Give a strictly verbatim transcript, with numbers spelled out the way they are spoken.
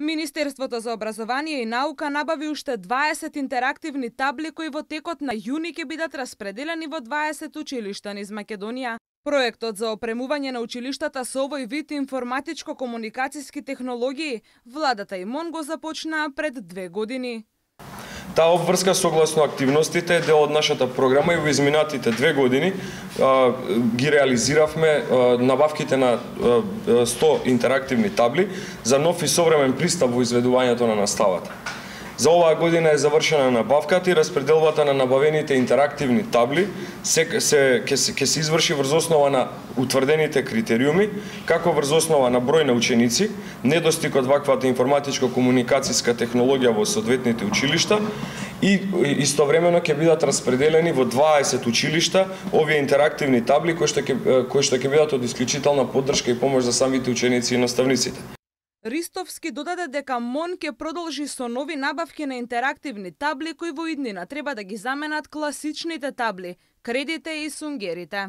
Министерството за образование и наука набави уште дваесет интерактивни табли кои во текот на јуни ќе бидат распределени во дваесет училишта низ Македонија. Проектот за опремување на училиштата со овој вид информатичко-комуникацијски технологии владата и МОН го започнаа пред две години. Таа обврска согласно активностите е дел од нашата програма и во изминатите две години а, ги реализиравме а, набавките на а, сто интерактивни табли за нов и современ пристап во изведувањето на наставата. За оваа година е завршена набавката и распределбата на набавените интерактивни табли се се ќе се, се изврши врз основа на утврдените критериуми, како врз основа на број на ученици, недостиг од ваквата информатичко-комуникацијска технологија во соодветните училишта и истовремено ќе бидат распределени во дваесет училишта овие интерактивни табли кои што ќе кои што ќе бидат од исклучителна поддршка и помош за самите ученици и наставниците. Ристовски додаде дека МОН ќе продолжи со нови набавки на интерактивни табли кои во иднина треба да ги заменат класичните табли, кредите и сунгерите.